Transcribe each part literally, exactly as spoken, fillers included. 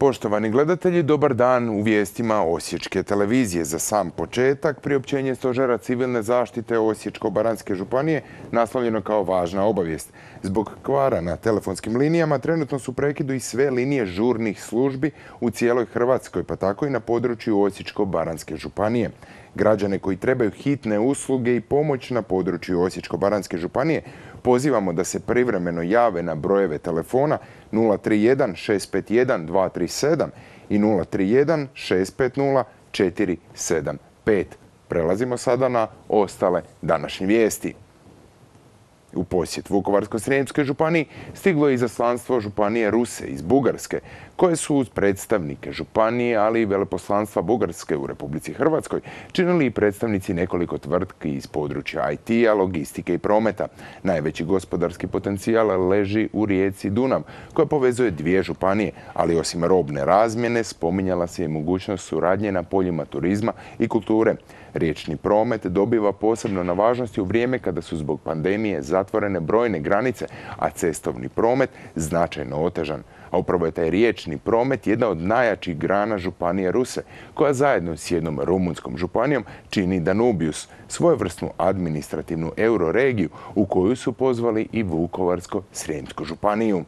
Poštovani gledatelji, dobar dan u vijestima Osječke televizije. Za sam početak, priopćenje Stožera civilne zaštite Osječko-baranjske županije naslovljeno kao važna obavijest. Zbog kvara na telefonskim linijama trenutno su prekidu i sve linije žurnih službi u cijeloj Hrvatskoj, pa tako i na području Osječko-baranjske županije. Građane koji trebaju hitne usluge i pomoć na području Osječko-baranjske županije pozivamo da se privremeno jave na brojeve telefona nula tri jedan šest pet jedan dva tri sedam i nula tri jedan šest pet nula četiri sedam pet. Prelazimo sada na ostale današnje vijesti. U posjet Vukovarsko-srijemskoj županiji stiglo je izaslanstvo županije Ruse iz Bugarske, koje su uz predstavnike županije, ali i veleposlanstva Bugarske u Republici Hrvatskoj činili i predstavnici nekoliko tvrtki iz područja I T-a, logistike i prometa. Najveći gospodarski potencijal leži u rijeci Dunav, koja povezuje dvije županije, ali osim robne razmjene spominjala se i mogućnost suradnje na poljima turizma i kulture. Riječni promet dobiva posebno na važnosti u vrijeme kada su zbog pandemije zatvorene brojne granice, a cestovni promet značajno otežan. A upravo je taj riječni promet jedna od najjačih grana županije Ruse, koja zajedno s jednom rumunskom županijom čini Danubius, svojevrsnu administrativnu euroregiju u koju su pozvali i Vukovarsko-srijemsku županiju.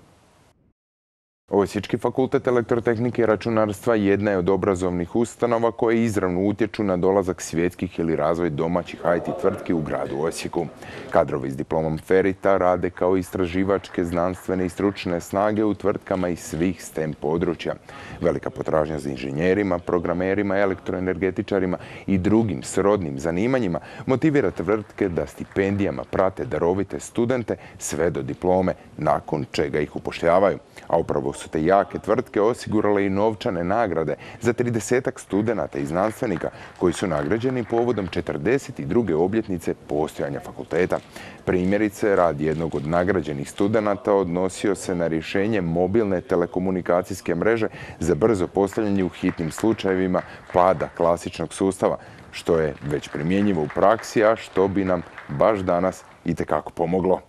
Osječki fakultet elektrotehnike i računarstva jedna je od obrazovnih ustanova koje izravno utječu na dolazak svjetskih ili razvoj domaćih I T tvrtki u gradu Osijeku. Kadrovi s diplomom Ferita rade kao istraživačke, znanstvene i stručne snage u tvrtkama iz svih STEM područja. Velika potražnja za inženjerima, programerima, elektroenergetičarima i drugim srodnim zanimanjima motivira tvrtke da stipendijama prate darovite studente sve do diplome, nakon čega ih upošljavaju. A upravo su te jake tvrtke osigurale i novčane nagrade za tridesetak studenata i znanstvenika koji su nagrađeni povodom četrdeset druge obljetnice postojanja fakulteta. Primjerice, rad jednog od nagrađenih studenata odnosio se na rješenje mobilne telekomunikacijske mreže za brzo postavljanje u hitnim slučajevima pada klasičnog sustava, što je već primjenjivo u praksi, a što bi nam baš danas itekako pomoglo.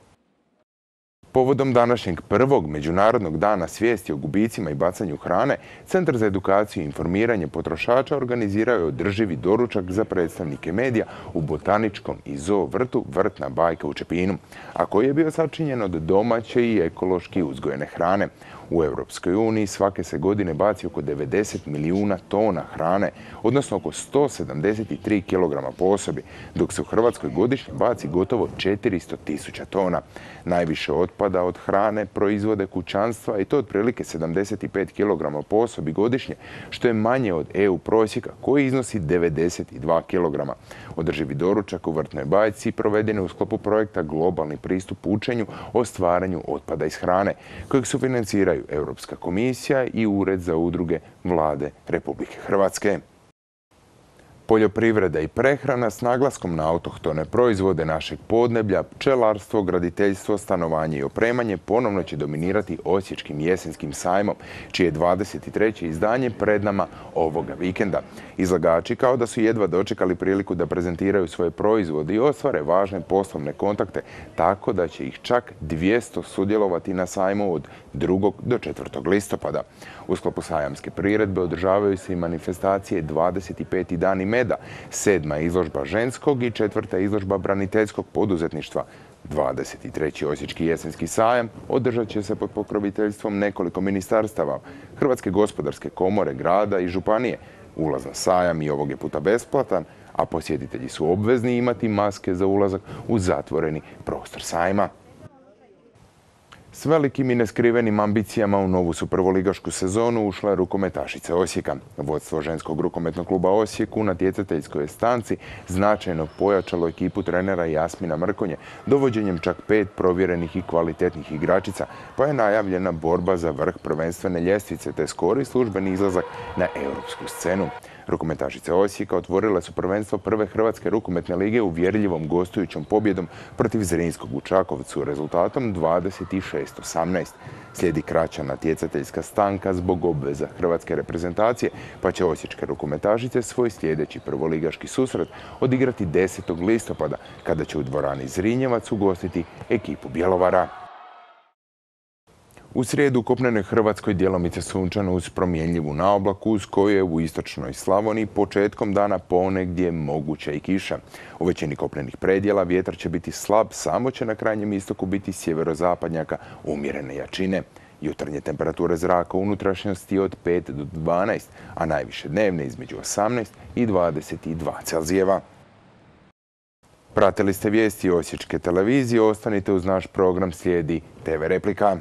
Povodom današnjeg prvog Međunarodnog dana svijesti o gubicima i bacanju hrane, Centar za edukaciju i informiranje potrošača organizirao je održivi doručak za predstavnike medija u botaničkom i zoo vrtu Vrtna bajka u Čepinu, a koji je bio sačinjen od domaće i ekološki uzgojene hrane. U Europskoj uniji svake se godine baci oko devedeset milijuna tona hrane, odnosno oko sto sedamdeset tri kilograma po osobi, dok se u Hrvatskoj godišnje baci gotovo četiristo tisuća tona. Najviše otpada od hrane proizvode kućanstva i to otprilike sedamdeset pet kilograma po osobi godišnje, što je manje od E U prosjeka koji iznosi devedeset dva kilograma. Održivi doručak u Vrtnoj bajci proveden je u sklopu projekta Globalni pristup učenju o stvaranju otpada iz hrane, kojeg su financiraju Europska komisija i Ured za udruge Vlade Republike Hrvatske. Poljoprivreda i prehrana s naglaskom na autohtone proizvode našeg podneblja, pčelarstvo, graditeljstvo, stanovanje i opremanje ponovno će dominirati Osječkim jesenskim sajmom, čije je dvadeset treće izdanje pred nama ovoga vikenda. Izlagači kao da su jedva dočekali priliku da prezentiraju svoje proizvode i ostvare važne poslovne kontakte, tako da će ih čak dvjesto sudjelovati na sajmu od drugog do četvrtog listopada. U sklopu sajamske priredbe održavaju se i manifestacije dvadeset peti dani meda, sedma izložba ženskog i četvrta izložba braniteljskog poduzetništva. dvadeset treći Osječki jesenski sajam održat će se pod pokroviteljstvom nekoliko ministarstava, Hrvatske gospodarske komore, grada i županije. Ulaz na sajam i ovog je puta besplatan, a posjetitelji su obvezni imati maske za ulazak u zatvoreni prostor sajma. S velikim i neskrivenim ambicijama u novu su prvoligašku sezonu ušla je rukometašica Osijeka. Vodstvo ženskog rukometnog kluba Osijek u natjecateljskoj stanci značajno pojačalo ekipu trenera Jasmina Mrkonje dovođenjem čak pet provjerenih i kvalitetnih igračica, pa je najavljena borba za vrh prvenstvene ljestvice te skori službeni izlazak na europsku scenu. Rukometašice Osijeka otvorile su prvenstvo prve Hrvatske rukometne lige uvjerljivom gostujućom pobjedom protiv Zrinskog u Čakovcu rezultatom dvadeset šest osamnaest. Slijedi kraća natjecateljska stanka zbog obveza hrvatske reprezentacije, pa će osječke rukometašice svoj sljedeći prvoligaški susret odigrati desetog listopada, kada će u dvorani Zrinjevac ugostiti ekipu Bjelovara. U srijedu u kopnenoj Hrvatskoj djelomice sunčano uz promjenljivu naoblaku uz koju je u istočnoj Slavoniji početkom dana ponegdje moguća i kiša. U većini kopnenih predjela vjetar će biti slab, samo će na krajnjem istoku biti sjeverozapadnjaka umjerene jačine. Jutarnje temperature zraka u unutrašnjosti od pet do dvanaest, a najviše dnevne između osamnaest i dvadeset dva Celzijeva. Pratili ste vijesti Osječke televizije, ostanite uz naš program, slijedi te ve Replika.